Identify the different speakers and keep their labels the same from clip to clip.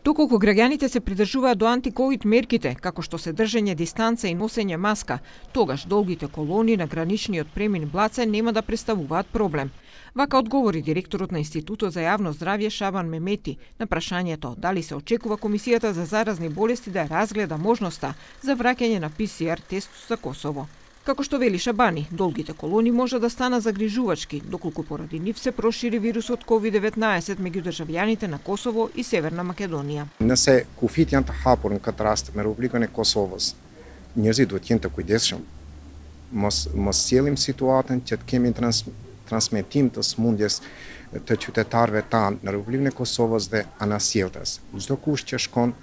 Speaker 1: Доколку граѓаните се придржуваат до антиковид мерките, како што се држење дистанца и носење маска, тогаш долгите колони на граничниот премин Блаце нема да представуваат проблем. Вака одговори директорот на Институтот за јавно здравје Шабан Мемети на прашањето дали се очекува Комисијата за заразни болести да разгледа можноста за враќање на ПСР тест за Косово. Како што вели Шабани, долгите колони може да стана загрижувачки, доколку поради нив се прошири вирусот COVID-19 меѓу државјаните на Косово и Северна Македонија.
Speaker 2: Nëse kufit janë të hapur në këtë rast me Republikën e Kosovës, njerëzit duhet jenë të kujdesshëm. Mos sjellim situatën që të kemi transmetim të smundjes të qytetarëve tanë në Republikën e Kosovës dhe anasjelltas. Çdo kush që shkon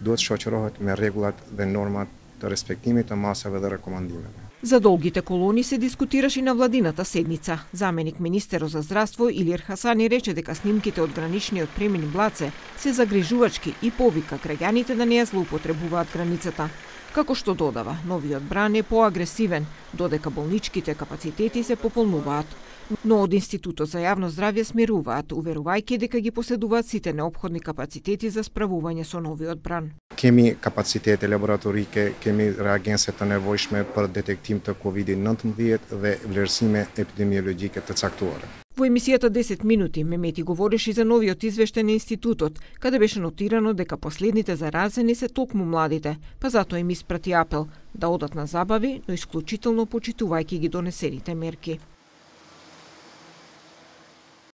Speaker 2: duhet shoqërohet me rregullat dhe normat të respektimit të masave dhe rekomandimeve.
Speaker 1: За долгите колони се дискутираше и на владината седница. Заменик министерот за здравство Илир Хасани рече дека снимките од граничниот премин Блаце се загрижувачки и повика граѓаните да не ја злоупотребуваат границата. Како што додава, новиот бран е поагресивен, додека болничките капацитети се пополнуваат. Но од Институтот за јавно здравје смируваат, уверувајќи дека ги поседуваат сите неопходни капацитети за справување со новиот бран.
Speaker 2: Kemi kapacitete laboratorike, kemi reagense të nevojshme për detektim të COVID-19 dhe vlerësime epidemiologjike të caktuara.
Speaker 1: Во емисијата 10 минути Мемети говореше за новиот извештај на институтот, каде беше нотирано дека последните заразени се токму младите, па затоа им испрати апел да одат на забави, но исклучително почитувајќи ги донесените мерки.